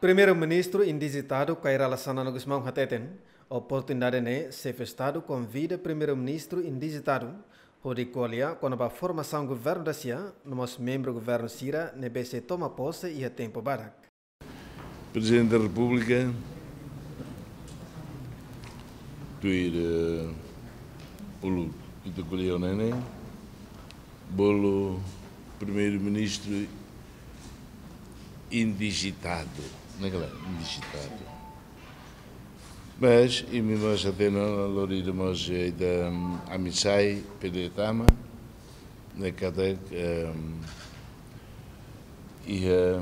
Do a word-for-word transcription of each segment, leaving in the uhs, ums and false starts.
Primeiru-Ministru indijitadu Kay Rala Xanana Gusmão hateten, oportunidade ne'e Xefe Estadu konvida Primeiru-Ministru indijitadu hodi ko'alia kona-ba formasaun governu da sia, no mós membru governu sira ne'ebé sei toma pose iha tempu badak. Prezidente da Repúblika, tuir, eh, uluk ita ko'alia ne'e, bolu Primeiru-Ministru indijitadu, ne'e kala indijitadu. Mas imi mós hatene ona, lori ida mós ida, mm, ami sai, P D tama, ne'e katak, em, iha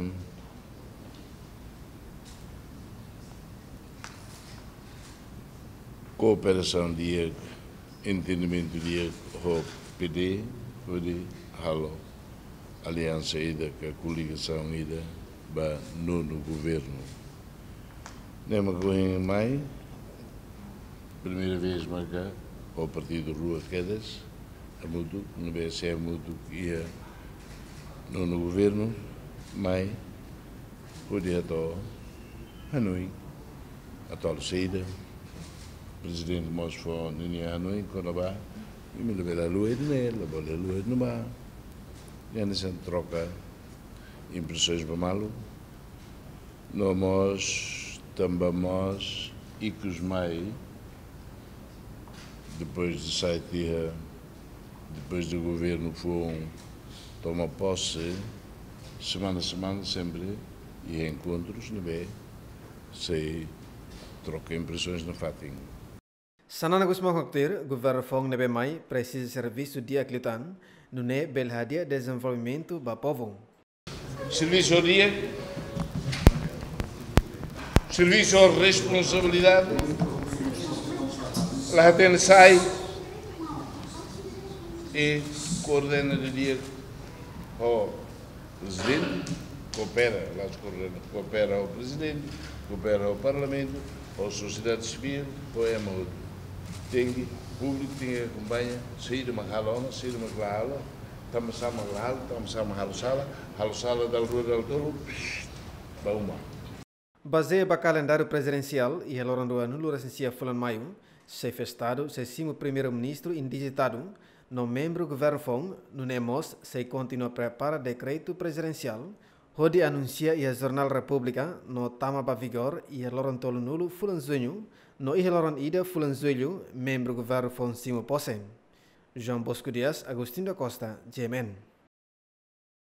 kooperasaun di'ak, entendimentu di'ak ho P D, hodi halo aliansa ida ka koligasaun ida ba nonu governu. Ne'e mak ohin mai, primeira vez maka ho partidu rua kedas, hamutuk, ne'ebé sei hamutuk iha nonu governu, mai, hodi hato'o hanoin atuál saida, Prezidente mós fó ninia hanoin kona-ba, imi labele haluha ida-ne'e, labele haluha ida-ne'ebá. Hanesan troka impresoens ba malu. No mós, tanba mós, ikus mai, depois de sai tiha, depois de governu foun toma pose, semana-semana sempre iha enkontrus ne'ebé sei troka impresoens nafatin. Xanana Gusmão haktuir, governu foun ne'ebé mai presiza servisu di'ak liután, nune'e bele hadi'a dezenvolvimentu ba povu. Servisu di'ak, servisu ho responsabilidade, la hatene sai, i koordena didi'ak ho Prezidente, koopera, la koordena, koopera ho Prezidente, koopera ho Parlamentu, ho sosiedade sivíl, ho ema hotu. Tenke, públiku tenke akompaña, saida mak halo ona, saida mak la halo, tanba sá mak la halo, tanba sá mak halo sala, halo sala dala rua dala tolu, psh, ba uma. Bazeia ba kalendáriu prezidensiál, iha loron ruanulu-resin-sia fulan Maiu, Xefe Estadu sei simu Primeiru-Ministru indijitadu, no membru governu foun, nune'e mós sei kontinua prepara dekretu prezidensiál, hodi anunsia iha Jornál Repúblika, no tama ba vigór iha loron tolunulu fulan Juñu, no iha loron ida fulan Jullu, membru governu foun simu pose. João Bosco Dias, Agostinho da Costa, G M N.